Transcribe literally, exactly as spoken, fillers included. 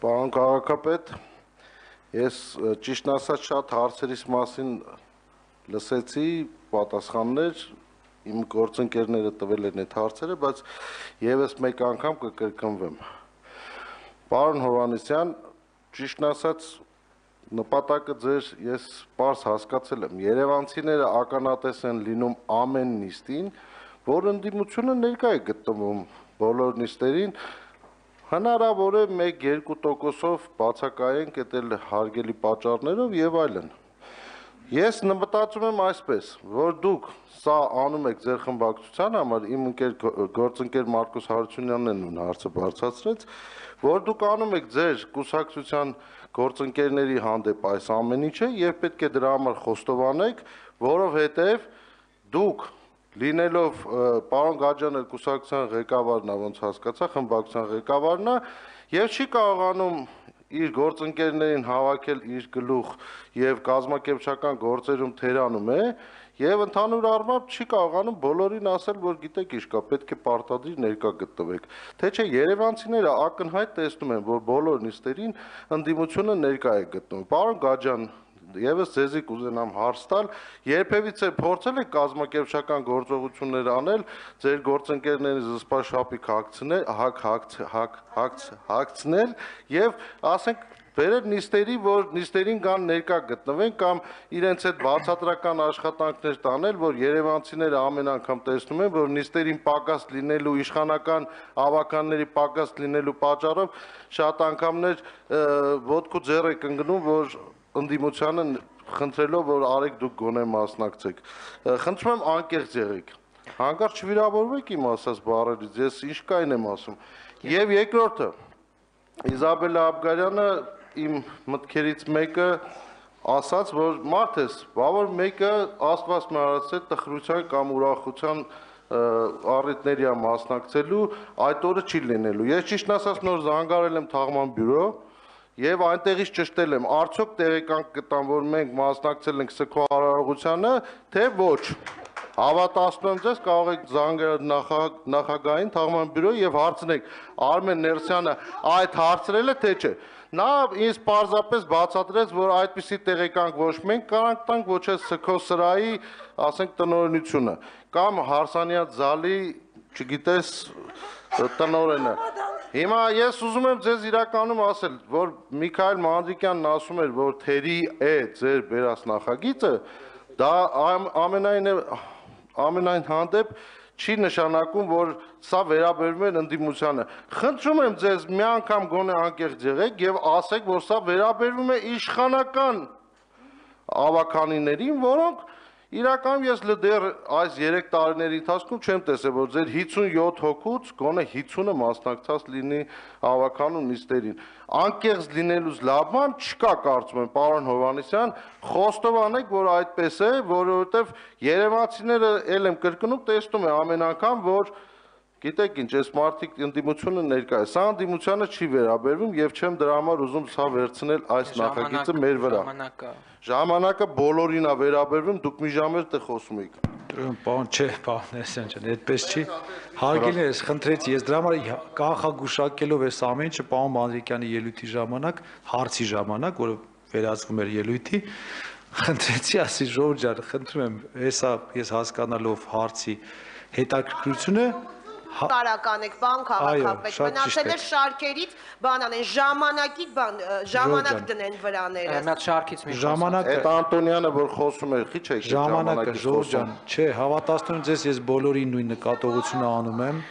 Պարոն քաղաքապետ, ես ճիշտ ասած շատ հարցերիս մասին լսեցի, պատասխաններ, իմ գործընկերները տվել են այդ հարցերը, բայց եւս մեկ անգամ կկրկնվեմ։ Պարոն Հովհաննիսյան, ճիշտ ասած նպատակը ձեր ես պարզ հասկացել եմ, երևանցիները ականատես են լինում ամեն նիստին, որ ընդդիմությունը ներկա է գտնվում բոլոր նիստերին, հնարավոր է մեկ-երկու տոկոսով բացակայենք այդ էլ հարգելի պատճառներով եւ այլն։ Ես մտածում եմ այսպես, որ դուք սա անում եք ձեր խմբակցության համար, իմ ընկեր գործընկեր Մարկոս Հարությունյանն են հարցը բարձրացրեց, որ դուք անում եք ձեր կուսակցության գործընկերների հանդեպ այս ամեն ինչը եւ պետք է դրա համար խոստովանեք, որովհետեւ դուք լինելով պարոն Գաջյանը կուսակցության ղեկավարն է, ոնց հասկացա, խմբակցության ղեկավարն է եւ չի կարողանում իր գործընկերներին հավաքել իր գլուխ եւ կազմակերպչական գործերում թերանում է եւ ընդհանուր առմամբ չի կարողանում բոլորին ասել, որ գիտեք ինչ կա, պետք է պարտադիր ներկա գտնվեք։ Թե չէ երևանցիները ակնհայտ տեսնում են, որ բոլոր նիստերին ընդդիմությունը ներկա է գտնվում։ Պարոն Գաջյան, Եվս ձեզի կուզենամ հարց տալ, երբևիցե փորձել եք կազմակերպչական գործողություններ անել, ձեր գործընկերների զսպաշապիկ հագցնել, հակ հակ հագցնել եւ ասենք բերել նիստերի, որ նիստերին կան ներկա գտնվեն կամ իրենց այդ բացատրական աշխատանքներ տանել, որ երևանցիները ամեն անգամ տեսնում են, որ նիստերին պակաս լինելու իշխանական ավականների պակաս լինելու պատճառով շատ անգամներ ոտքու ձեռ եք ընկնում, որ ընդդիմությանը խնդրելով, որ արեք դուք գոնե մասնակցեք։ Խնդրում եմ անկեղծ եղեք։ Հանկարծ չվիրավորվեք իմ ասած բառերից, ես ինչ կային եմ ասում։ Եվ երկրորդը, Իզաբելլա Աբգարյանը իմ մտքերից մեկը ասաց, որ մարդ ես, բավար մեկը Աստված մահացել տխրության կամ ուրախության առիթների է մասնակցելու, այդ օրը չի լինելու։ Ես ճիշտ ասած նոր զանգարել եմ թաղման բյուրո Եվ այնտեղից ճշտել եմ, արդյոք տեղեկանք գտան, որ մենք մասնակցել ենք սգո արարողությանը, թե ոչ։ Հավատացնում եմ ձեզ, կարող եք զանգել նախագահային թաղման բյուրո եւ հարցնեք Արմեն Ներսյանը այդ հարցրել է թե չէ։ Նա ինձ պարզապես բացատրեց, որ այդպիսի տեղեկանք ոչ մենք կարանք տանք, ոչ էլ սգո սրահի, ասենք տնօրինությունը, կամ Հարսանյաց Զալի, չգիտես, տնօրենը։ Հիմա ես ուզում եմ ձեզ իրականում ասել, որ Միքայել Մանրիկյանն ասում էր, որ թերի է ձեր բերած նախագիծը, դա ամենայն ամենայն հանդեպ չի նշանակում, որ սա վերաբերում է ընդդիմությանը։ Խնդրում եմ ձեզ մի անգամ գոնե անկեղծ եղեք եւ ասեք, որ սա վերաբերվում է իշխանական ավականիներին, որոնք Իրականում ես դեռ այս երեք տարիների ընթացքում չեմ տեսել, որ ձեր հիսունյոթ հոգուց գոնե հիսունը մասնակցած լինի ավականու նիստերին։ Անկեղծ լինելուց լավ բան չկա, կարծում եմ, պարոն Հովհաննիսյան, խոստովանեք, որ այդպես է, որովհետև երևանցիները ել եմ կրկնում, տեսնում է ամեն անգամ, որ Գիտեք ինչ, այս մարդիկ ընդդիմությունը ներկա է, սա ընդդիմությանը չի վերաբերվում եւ չեմ դրա համար ուզում սա վերցնել այս նախագիծը մեր վրա։ Ժամանակը բոլորին է վերաբերվում, դուք մի ժամ էլ տեղ խոսում եք։ Պարոն, չէ, պարոն Ներսյան ջան, այդպես չի։ Հարգելի ես խնդրեցի, ես դրա համար կանխագուշակելով այս ամեն ինչը պարոն Մանրիկյանի ելույթի ժամանակ, հարցի ժամանակ, որը վերածվում էր ելույթի, խնդրեցի, ասի Ժորժ ջան, խնդրում եմ, հեսա ես հասկանալով հարցի հետաքրքրությունը տարական եք, բան քաղաքապետ, մնացել էր շարքերից բան անեն, ժամանակի բան, ժամանակ դնեն վրաները։ Այդ շարքից մի ժամանակը Այդ Անտոնյանը, որ խոսում էր, քիչ եք ժամանակը Ժորժ ջան, չէ, հավատացնում եմ ձեզ, ես բոլորին նույն նկատողությունը անում եմ։